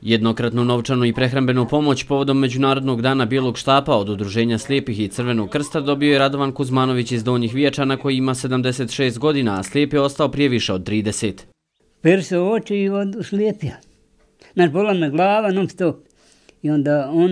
Jednokratnu novčanu i prehrambenu pomoć povodom Međunarodnog dana Bijelog štapa od Udruženja slijepih i Crvenog krsta dobio je Radovan Kuzmanović iz Donjih Vijačana koji ima 76 godina, a slijep je ostao prije više od 30. Perse oči i slijepija. Znaš, bola me glava non stop. I onda on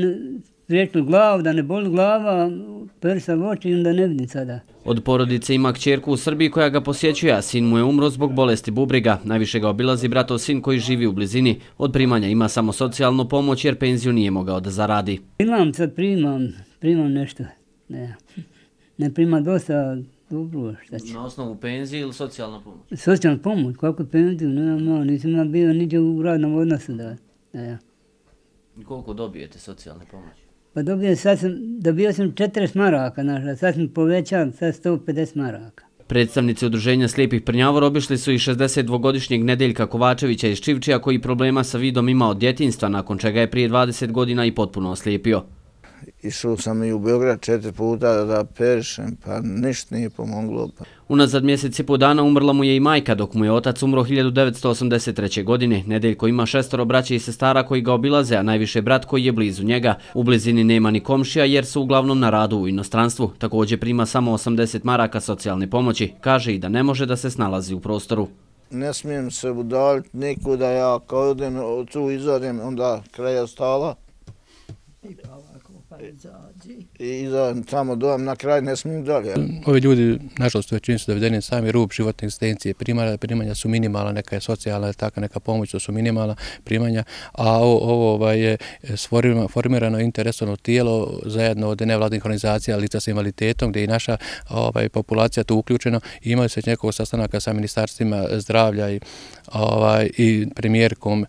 priječil glavu, da ne boli glava, persa oči i onda ne vidim sada. Od porodice ima kćerku u Srbiji koja ga posjećuje, a sin mu je umro zbog bolesti bubrega. Najviše ga obilazi bratov sin koji živi u blizini. Od primanja ima samo socijalnu pomoć jer penziju nije mogao da zaradi. Primam nešto. Ne primam dosta dobro, šta će. Na osnovu penzije ili socijalna pomoć? Socijalna pomoć, kako penziju, nisam ja bio niđe u radnom odnosu da. Koliko dobijete socijalne pomoći? Pa dobio sam 40 maraka, a sad sam povećao, sad 150 maraka. Predstavnici Udruženja slijepih Prnjavor obišli su i 62-godišnjeg Nedeljka Kovačevića iz Čivčija koji problema sa vidom ima od djetinjstva, nakon čega je prije 20 godina i potpuno oslijepio. Išao sam i u Beograd 4 puta da perišem, pa ništa nije pomoglo. Unazad mjesec i pol dana umrla mu je i majka, dok mu je otac umro 1983. godine. Nedeljko ima 6 braće i sestara koji ga obilaze, a najviše brat koji je blizu njega. U blizini nema ni komšija jer su uglavnom na radu u inostranstvu. Također prima samo 80 maraka socijalne pomoći. Kaže i da ne može da se snalazi u prostoru. Ne smijem se udaljiti nikuda, ja kao odem tu izađem, onda kraja stala. I izađem tamo dojem, na kraj ne smijem dalje. Ovi ljudi, nažalost, većini su dovedeni sami rub životne egzistencije. Primanja su minimalna, neka je socijalna, taka neka pomoć, to su minimalna primanja, a ovo je formirano interesovno tijelo zajedno od nevladnih organizacija lica sa invaliditetom, gdje je i naša populacija tu uključena. Imali se nekoliko sastanaka sa ministarstvima zdravlja i premijerkom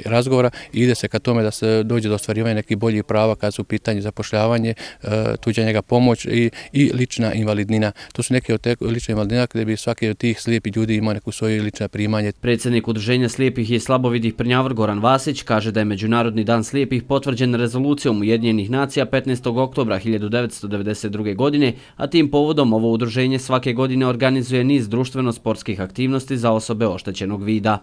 razgovora i ide se ka tome da se dođe do ostvarivanja nekih boljih prava kad su u pitanju zapošljavanje, tuđa njega pomoć i lična invalidnina. To su neke od te lične invalidnina gdje bi svaki od tih slijepih ljudi imao neku svoju lična primanje. Predsjednik Udruženja slijepih i slabovidih Prnjavor Goran Vasić kaže da je Međunarodni dan slijepih potvrđen rezolucijom Ujedinjenih nacija 15. oktobra 1992. godine, a tim povodom ovo udruženje svake godine organizuje niz društveno-sportskih aktivnosti za osobe oštećenog vida.